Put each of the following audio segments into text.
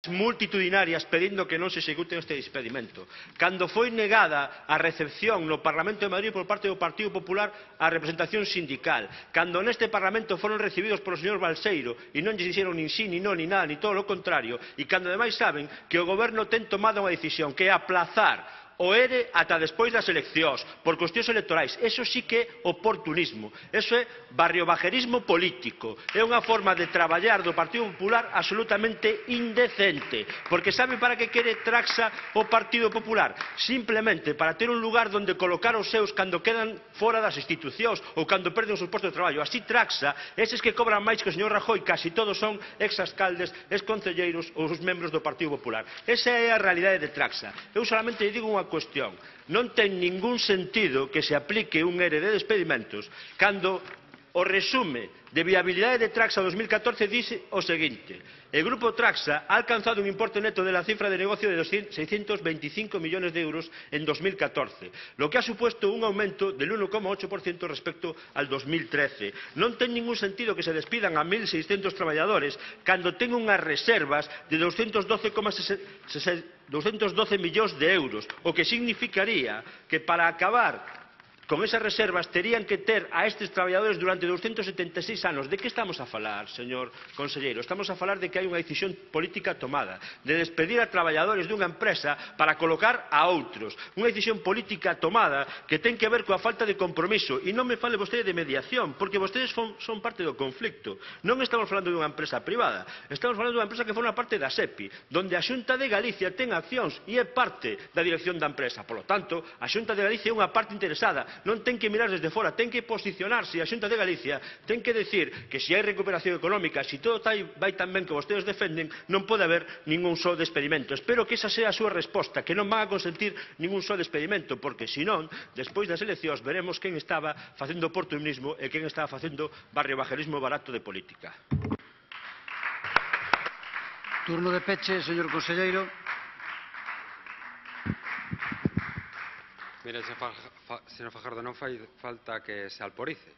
multitudinarias pedindo que non se execute este despedimento. Cando foi negada a recepción no Parlamento de Madrid por parte do Partido Popular á representación sindical, cando neste Parlamento foron recibidos polo señor Balseiro e non lle dixeron nin sí, nin non, nin nada, nin todo o contrario, e cando ademais saben que o Goberno ten tomado unha decisión que é aplazar o ERE ata despois das eleccións, por cuestións electorais. Eso sí que é oportunismo, eso é barriobajerismo político, é unha forma de traballar do Partido Popular absolutamente indecente, porque sabe para que quere Traxa o Partido Popular? Simplemente para ter un lugar onde colocar os seus cando quedan fora das institucións ou cando perden os seus postos de traballo. Así Traxa, eses que cobran máis que o señor Rajoy, casi todos son ex-alcaldes, ex-concelleiros ou os membros do Partido Popular. Esa é a realidade de Traxa. Eu solamente digo unha cuestión. Non ten ningún sentido que se aplique un ERE de despedimentos cando o resume de viabilidade de Traxa 2014 dice o seguinte: el grupo Traxa ha alcanzado un importe neto de la cifra de negocio de 625 millones de euros en 2014, lo que ha supuesto un aumento del 1,8% respecto al 2013. Non ten ningún sentido que se despidan a 1.600 traballadores cando ten unhas reservas de 212 millóns de euros, o que significaría que para acabar con esas reservas terían que ter a estes traballadores durante 276 anos. De que estamos a falar, señor conselleiro? Estamos a falar de que hai unha decisión política tomada, de despedir a traballadores dunha empresa para colocar a outros. Unha decisión política tomada que ten que ver coa falta de compromiso. E non me fale vostede de mediación, porque vostedes son parte do conflicto. Non estamos falando dunha empresa privada, estamos falando dunha empresa que forma parte da SEPI, donde a Xunta de Galicia ten accións e é parte da dirección da empresa. Por lo tanto, a Xunta de Galicia é unha parte interesada. Non ten que mirar desde fora, ten que posicionarse. A Xunta de Galicia ten que decir que se hai recuperación económica, se todo vai tan ben que vostedes defenden, non pode haber ningún só despedimento. Espero que esa sea a súa resposta, que non van a consentir ningún só despedimento, porque senón, despois das eleccións, veremos quen estaba facendo oportunismo e quen estaba facendo barriobajerismo barato de política. Turno de peche, señor conselleiro. Mire, señor Fajardo, non fai falta que se alporice.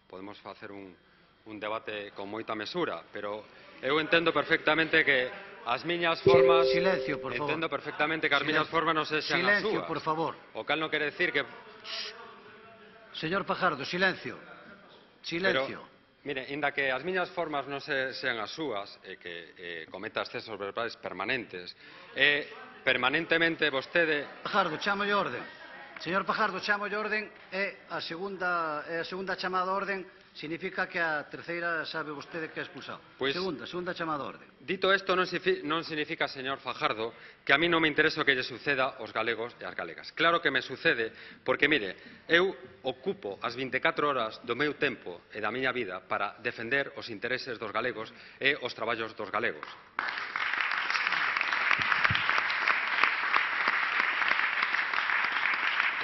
Podemos facer un debate con moita mesura, pero eu entendo perfectamente que as miñas formas... Silencio, por favor. Entendo perfectamente que as miñas formas non sexan as súas. Silencio, por favor. O cal non quere decir que... Señor Fajardo, silencio. Silencio. Pero, mire, inda que as miñas formas non sean as súas, e que cometa excesos verbais permanentes, permanentemente vostede... Fajardo, chámolle orde. Señor Fajardo, chámolle orden, e a segunda chamada a orden significa que a terceira sabe vostede que é expulsado. Segunda chamada a orden. Dito isto, non significa, señor Fajardo, que a mí non me interesa o que lle suceda aos galegos e ás galegas. Claro que me sucede, porque, mire, eu ocupo as 24 horas do meu tempo e da miña vida para defender os intereses dos galegos e os traballos dos galegos.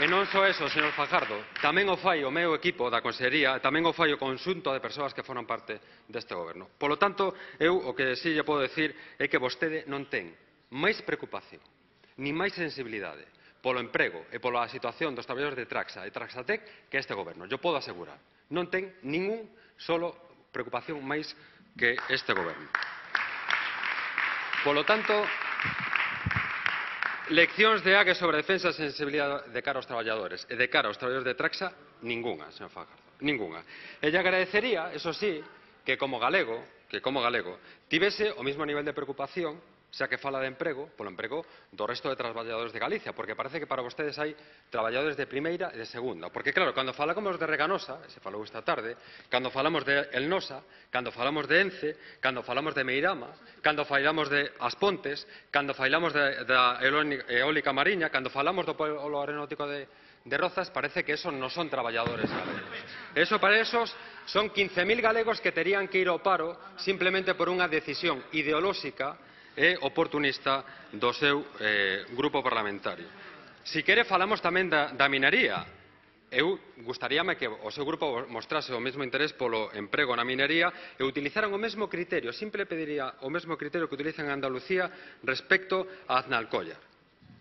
E non só eso, señor Fajardo, tamén o fai o meu equipo da Consellería, tamén o fai o conxunto de persoas que foran parte deste goberno. Polo tanto, eu o que si lle podo decir é que vostede non ten máis preocupación, nin máis sensibilidade polo emprego e pola situación dos traballadores de Traxa e Traxatec que este goberno. Eu podo asegurar, non ten ningún solo preocupación máis que este goberno. Polo tanto, leccións de AGE sobre defensa e sensibilidade de cara aos traballadores e de cara aos traballadores de Traxa, ningunha, señor Fajardo, ningunha. E lle agradecería, eso sí, que como galego, tivese o mesmo nivel de preocupación, xa que fala de emprego, polo emprego do resto de traballadores de Galicia, porque parece que para vostedes hai traballadores de primeira e de segunda. Porque, claro, cando falamos de Reganosa, se falou esta tarde, cando falamos de Elnosa, cando falamos de Ence, cando falamos de Meirama, cando falamos de As Pontes, cando falamos da eólica mariña, cando falamos do polo aeronáutico de Rozas, parece que esos non son traballadores galegos. Eso para esos son 15.000 galegos que terían que ir ao paro simplemente por unha decisión ideolóxica e oportunista do seu grupo parlamentario. Si quere, falamos tamén da minería. Eu gustaríame que o seu grupo mostrase o mesmo interés polo emprego na minería e utilizaran o mesmo criterio, simple pediría o mesmo criterio que utilizan en Andalucía respecto a Aznalcóllar.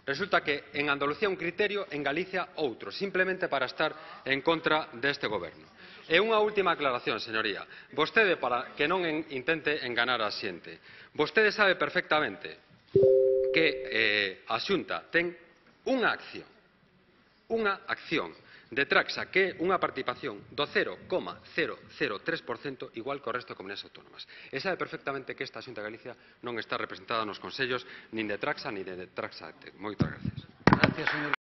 Resulta que en Andalucía un criterio, en Galicia outro, simplemente para estar en contra deste goberno. E unha última aclaración, señoría. Vostede, para que non intente enganar a xente, vostede sabe perfectamente que a Xunta ten unha acción de Traxa que é unha participación do 0,003% igual que o resto de comunidades autónomas. E sabe perfectamente que esta Xunta de Galicia non está representada nos consellos nin de Traxa nin de Traxa. Moitas gracias. Gracias, señor.